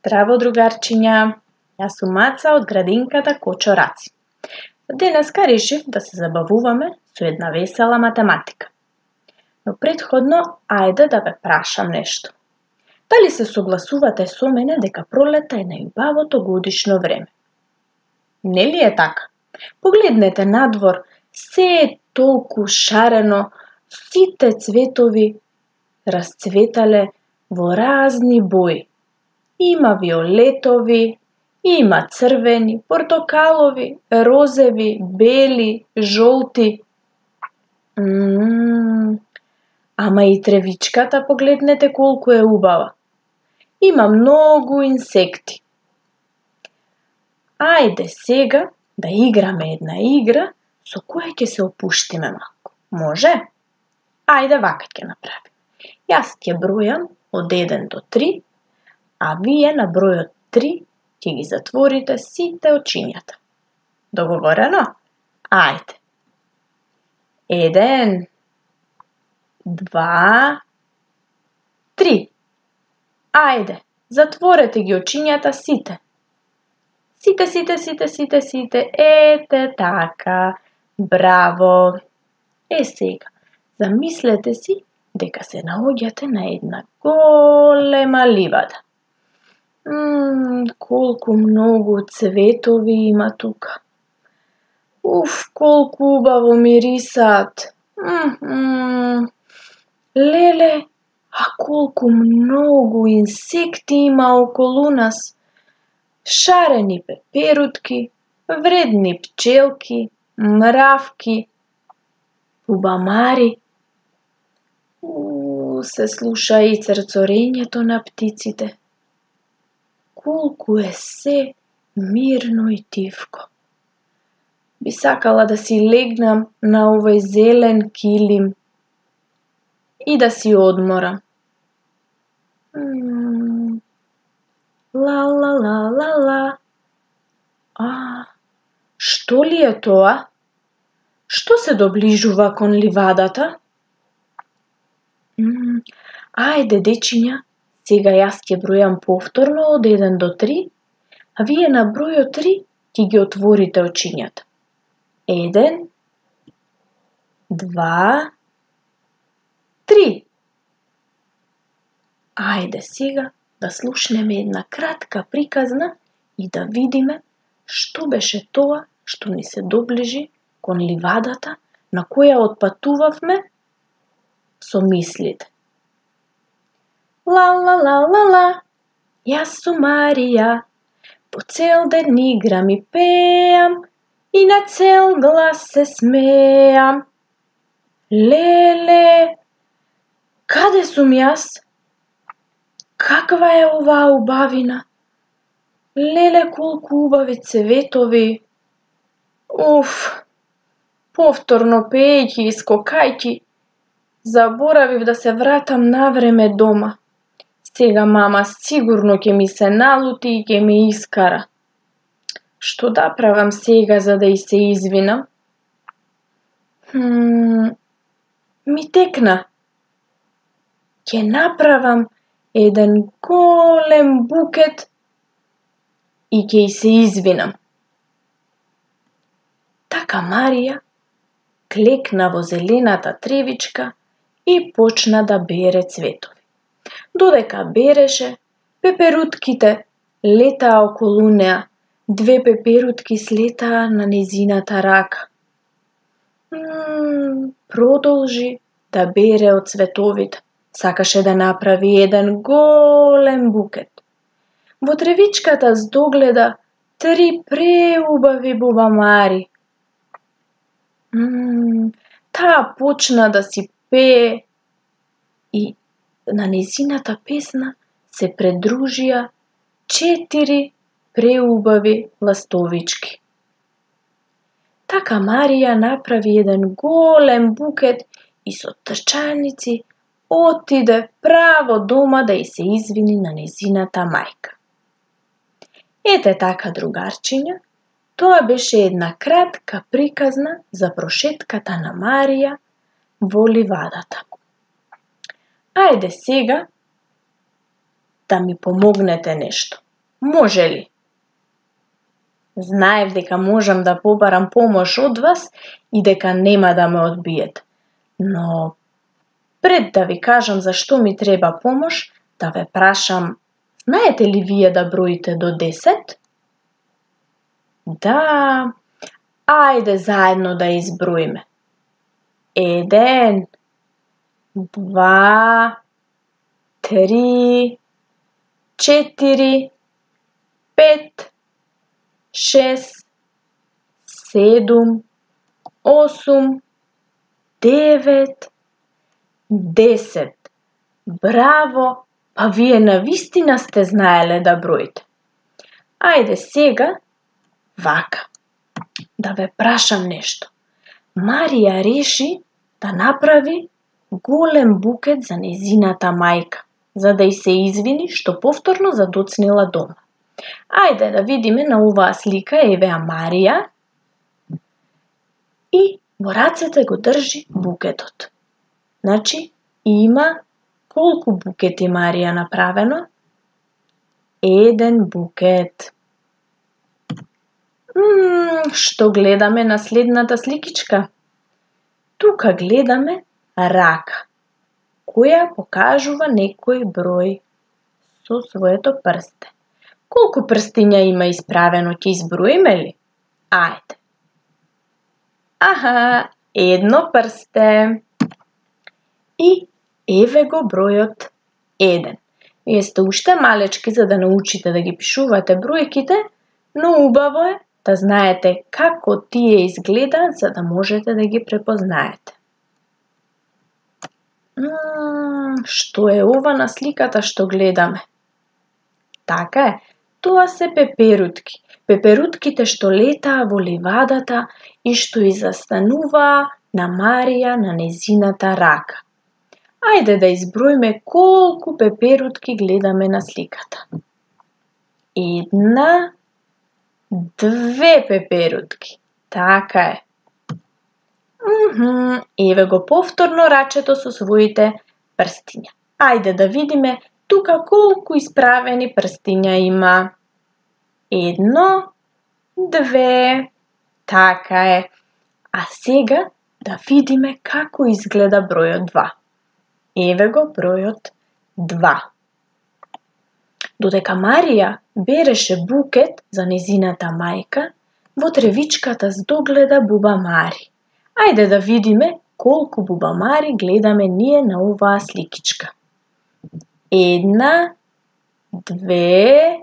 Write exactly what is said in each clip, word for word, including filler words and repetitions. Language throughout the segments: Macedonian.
Здраво, другарчиња! Јас сум Маца од градинката Кочо Раци. Денеска решив да се забавуваме со една весела математика. Но претходно, ајде да ве прашам нешто. Дали се согласувате со мене дека пролета е најубавото годишно време? Нели е така? Погледнете надвор, се е толку шарено, сите цветови расцветале во разни бои. Има виолетови, има црвени, портокалови, розеви, бели, жолти. Ммм, ама и тревичката погледнете колку е убава. Има многу инсекти. Ајде сега да играме една игра со која ќе се опуштиме малку. Може? Ајде вака ќе направиме. Јас ќе бројам од еден до три, а вие на бројот три ќе ги затворите сите очињата. Договорено? Ајде. Еден, два, три. Ајде, затворете ги очињата сите. Сите, сите, сите, сите, сите. Ете така. Браво. Е сега, замислете си дека се наоѓате на една голема ливада. Ммм, колку многу цветови има тука. Уф, колку убаво мирисаат. Ммм, леле, а колку многу инсекти има околу нас. Шарени пеперутки, вредни пчелки, мравки, убамари. Уу, се слуша и црцорењето на птиците. Колку е се мирно и тивко. Би сакала да си легнам на овој зелен килим и да си одморам. Ммм, ла ла ла ла ла. А, што ли е тоа? Што се доближува кон ливадата? Ммм, ајде дечиња, сега јас ќе бројам повторно од еден до три, а вие на бројот три ќе ги отворите очињата. Еден, два, три. Ајде сега да слушнеме една кратка приказна и да видиме што беше тоа што ни се доближи кон ливадата на која отпатувавме со мислите. Ла ла ла ла ла, јас сум Марија, по цел ден играм и пеам и на цел глас се смеам. Леле, каде сум јас? Каква е оваа убавина? Леле, колку убави цветови. Уф, повторно пеејќи и скокајќи, заборавив да се вратам навреме дома. Сега мама сигурно ќе ми се налути и ќе ме искара. Што да правам сега за да и се извинам? Хм, ми текна. Ќе направам еден голем букет и ќе и се извинам. Така Марија клекна во зелената тревичка и почна да бере цветови. Додека береше, пеперутките летаа околу неа. Две пеперутки слетаа на нејзината рака. Ммм, продолжи да бере од цветовите. Сакаше да направи еден голем букет. Во тревичката здогледа три преубави бубамари. Ммм, таа почна да си пее и на нејзината песна се придружија четири преубави ластовички. Така Марија направи еден голем букет и со трчаници отиде право дома да и се извини на нејзината мајка. Ете така, другарчиња, тоа беше една кратка приказна за прошетката на Марија во ливадата. Ајде сега да ми помогнете нешто. Може ли? Знаев дека можам да побарам помош од вас и дека нема да ме одбиете. Но пред да ви кажам зашто ми треба помош, да ве прашам, знаете ли вие да броите до десет? Да, ајде заедно да изброиме. Еден, два, три, четири, пет, шест, седум, осум, девет, десет. Браво! Па вие навистина сте знаеле да броите. Ајде сега, вака, да ве прашам нешто. Марија реши да направи голем букет за нејзината мајка, за да ѝ се извини што повторно задоцнила дома. Ајде да видиме на оваа слика, евеа Марија и во рацете го држи букетот. Значи, има колку букети Марија направено? Еден букет. Мм, што гледаме на следната сликичка? Тука гледаме рака, која покажува некој број со своето прсте. Колку прстиња има исправено, ќе изброиме ли? Ајде. Аха, едно прсте. И еве го бројот еден. Вие сте уште малечки за да научите да ги пишувате бројките, но убаво е да знаете како тие изгледаат за да можете да ги препознаете. Мм, што е ова на сликата што гледаме? Така е, тоа се пеперутки. Пеперутките што летаа во ливадата и што и застануваа на Марија на нејзината рака. Ајде да изброиме колку пеперутки гледаме на сликата. Една, две пеперутки. Така е. Мхм, еве го повторно рачето со своите прстиња. Ајде да видиме тука колку исправени прстиња има. Едно, две. Така е. А сега да видиме како изгледа бројот два. Еве го бројот два. Додека Марија береше букет за нејзината мајка, во тревичката здогледа бубамари. Ајде да видиме колку бубамари гледаме ние на оваа сликичка. Една, две,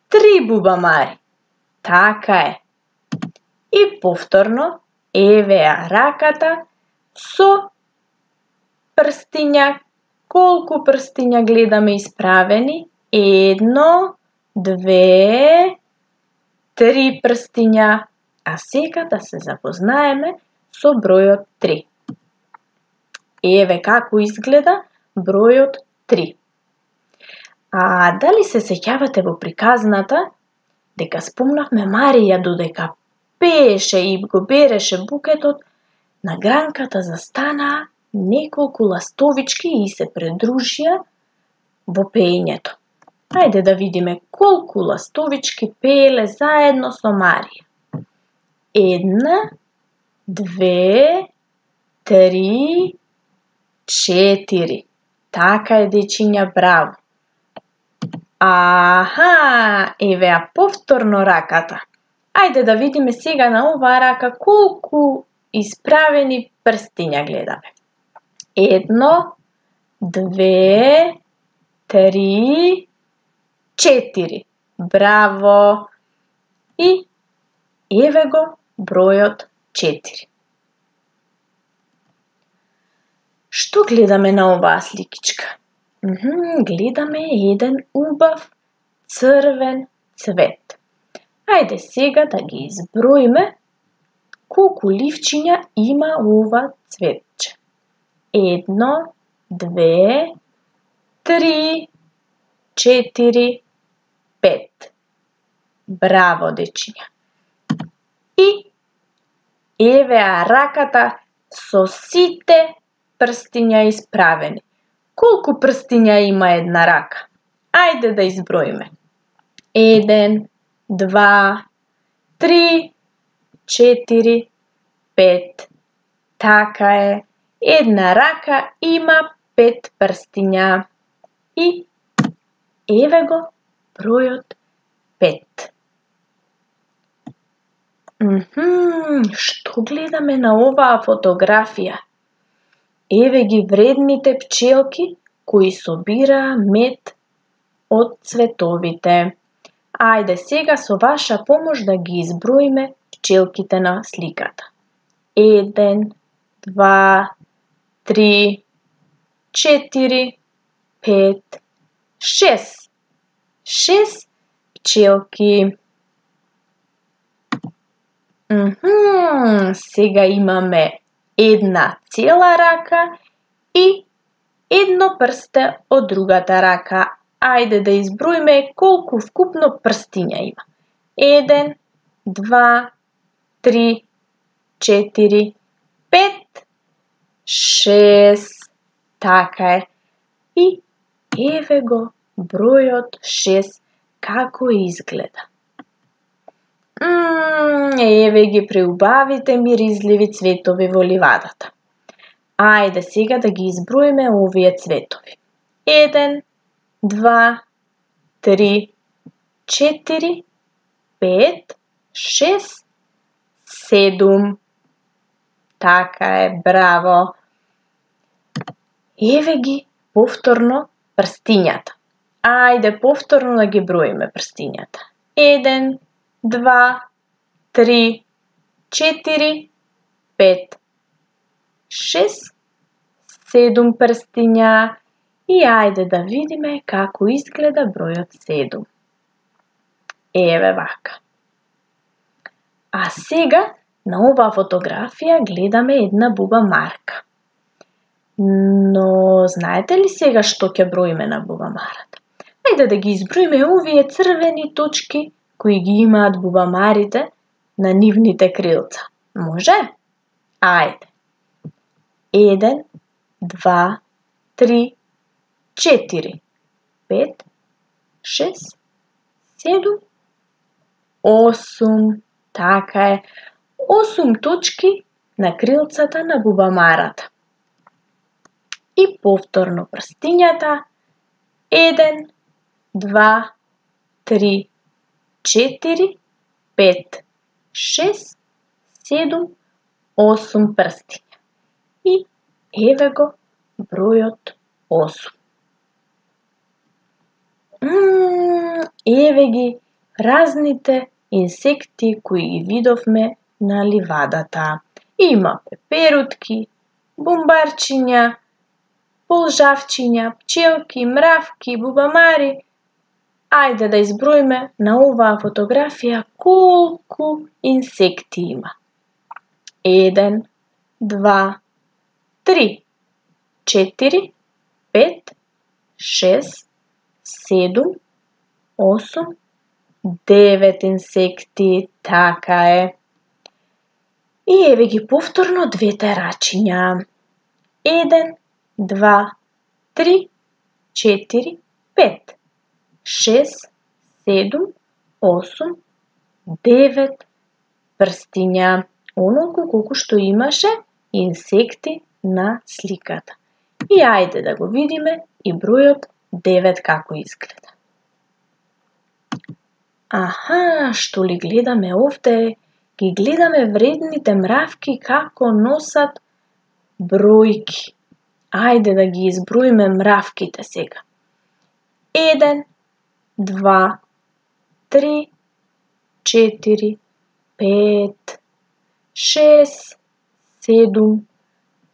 три бубамари. Така е. И повторно, евеа раката со прстиња. Колку прстиња гледаме исправени? Едно, две, три прстиња. А сега да се запознаеме со бројот три. Еве како изгледа бројот три. А дали се сеќавате во приказната дека спомнавме Марија додека пееше и го береше букетот, на гранката застанаа неколку ластовички и се придружија во пеењето. Ајде да видиме колку ластовички пееле заедно со Марија. Една, две, три, четири. Така е, дечиња, браво. Аха, евеа повторно раката. Ајде да видиме сега на оваа рака колку исправени прстиња гледаме. Едно, две, три, четири. Браво! И еве го бројот четири. Што гледаме на оваа сликичка? Мхм, гледаме еден убав црвен цвет. Ајде сега да ги изброиме колку ливчиња има ова цветче. Едно, две, три, четири, пет. Браво, дечиња. И евеа раката со сите прстиња исправени. Колку прстиња има една рака? Ајде да изброиме. Еден, два, три, четири, пет. Така е. Една рака има пет прстиња. И еве го бројот пет. Мхм, што гледаме на оваа фотографија? Еве ги вредните пчелки кои собираа мед од цветовите. Ајде сега со ваша помош да ги изброиме пчелките на сликата. Еден, два, три, четири, пет, шест. Шест пчелки. Мхм, сега имаме една цела рака и едно прсте од другата рака. Ајде да изброиме колку вкупно прстиња има. Еден, два, три, четири, пет, шест. Така е. И еве го бројот шест како изгледа. Мм, еве ги преубавите миризливи цветови во ливадата. Ајде сега да ги изброиме овие цветови. Еден, два, три, четири, пет, шест, седум. Така е, браво. Еве ги повторно прстињата. Ајде повторно да ги броиме прстињата. Еден, два, три, четири, пет, шест, седум прстиња. И ајде да видиме како изгледа бројот седум. Еве вака. А сега на оваа фотографија гледаме една бубамарка. Но знаете ли сега што ќе броиме на бубамарата? Ајде да ги изброиме овие црвени точки кои ги имаат бубамарите на нивните крилца. Може? Ајде. Еден, два, три, четири, пет, шест, седум, осум. Така е. осум точки на крилцата на бубамарата. И повторно прстињата. Еден, два, три, четири, пет, шест, седум, осум прстиња. И еве го бројот осум. Мм, еве ги разните инсекти кои ги видовме на ливадата. Има пеперутки, бумбарчиња, полжавчиња, пчелки, мравки, бубамари. Ајде да изброиме на оваа фотографија колку инсекти има. Еден, два, три, четири, пет, шест, седум, осум, девет инсекти. Така е. И еве ги повторно двете рачиња. Еден, два, три, четири, пет, шест, седум, осум, девет прстиња. Онолку колку што имаше инсекти на сликата. И ајде да го видиме и бројот девет како изгледа. Аха, што ли гледаме овде? Ги гледаме вредните мравки како носат бројки. Ајде да ги изброиме мравките сега. Еден, два, три, четири, пет, шест, седум,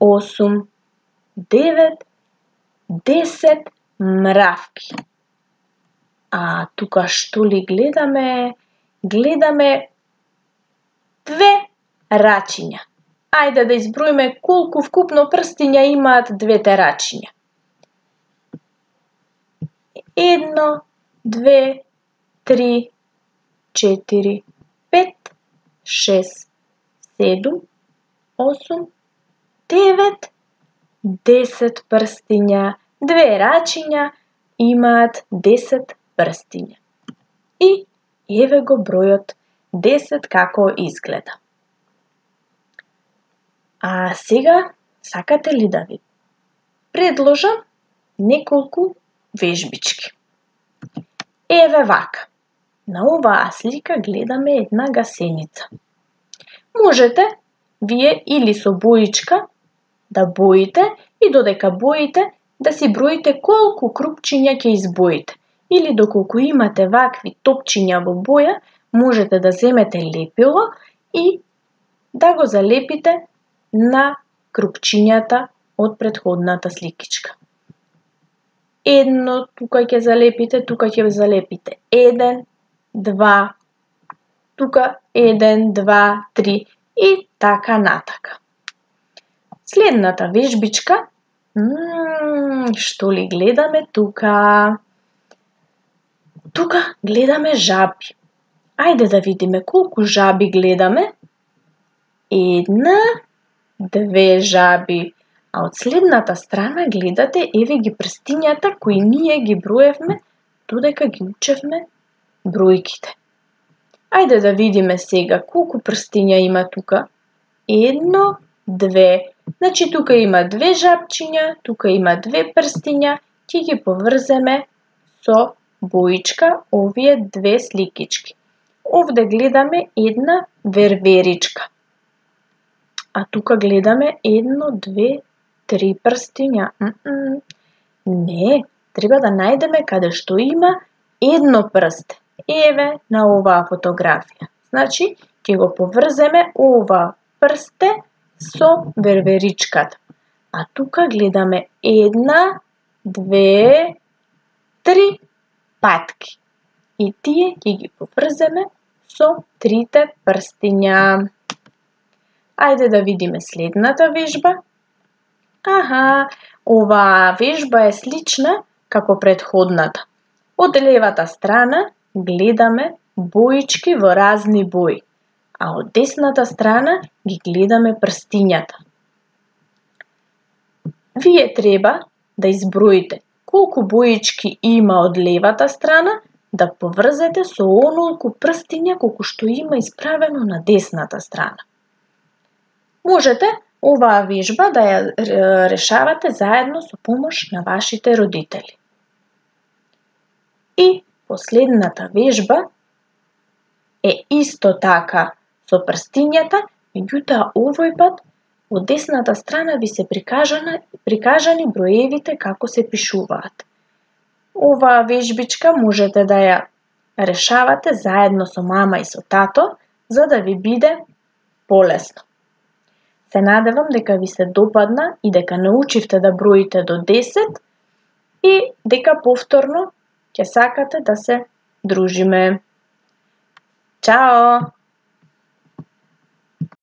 осум, девет, десет мравки. А тука што ли гледаме? Гледаме две рачиња. Ајде да изброиме колку вкупно прстиња имаат двете рачиња. Едно, две, три, четири, пет, шест, седум, осум, девет, десет прстиња. Две рачиња имаат десет прстиња. И еве го бројот десет како изгледа. А сега сакате ли да ви предложам неколку вежбички? Еве вака. На оваа слика гледаме една гасеница. Можете вие или со боичка да боите и додека боите да си броите колку крупчиња ќе избоите. Или доколку имате вакви топчиња во боја, можете да земете лепило и да го залепите на крупчињата од претходната сликичка. Едно тука ќе залепите, тука ќе залепите еден, два, тука еден, два, три и така натака. Следната вежбичка, мм, што ли гледаме тука? Тука гледаме жаби. Ајде да видиме колку жаби гледаме. Една, две жаби. А од следната страна гледате еве ги прстињата кои ние ги броевме додека ги учевме бројките. Ајде да видиме сега колку прстиња има тука. Едно, две. Значи тука има две жабчиња, тука има две прстиња, ќе ги поврземе со боичка овие две сликички. Овде гледаме една верверичка. А тука гледаме едно, две, три прстиња. Mm-mm. Не, треба да најдеме каде што има едно прсте. Еве на оваа фотографија. Значи, ќе го поврземе ова прсте со верверичката. А тука гледаме една, две, три патки. И тие ќе ги поврземе со трите прстиња. Ајде да видиме следната вежба. Аха, оваа вежба е слична како претходната. Од левата страна гледаме боички во разни бои, а од десната страна ги гледаме прстињата. Вие треба да изброите колку боички има од левата страна, да поврзете со онолку прстиња колку што има исправено на десната страна. Можете оваа вежба да ја решавате заедно со помош на вашите родители. И последната вежба е исто така со прстињата, меѓутоа овој пат од десната страна ви се прикажани, прикажани броевите како се пишуваат. Оваа вежбичка можете да ја решавате заедно со мама и со тато, за да ви биде полесно. Се надевам дека ви се допадна и дека научивте да броите до десет и дека повторно ќе сакате да се дружиме. Чао!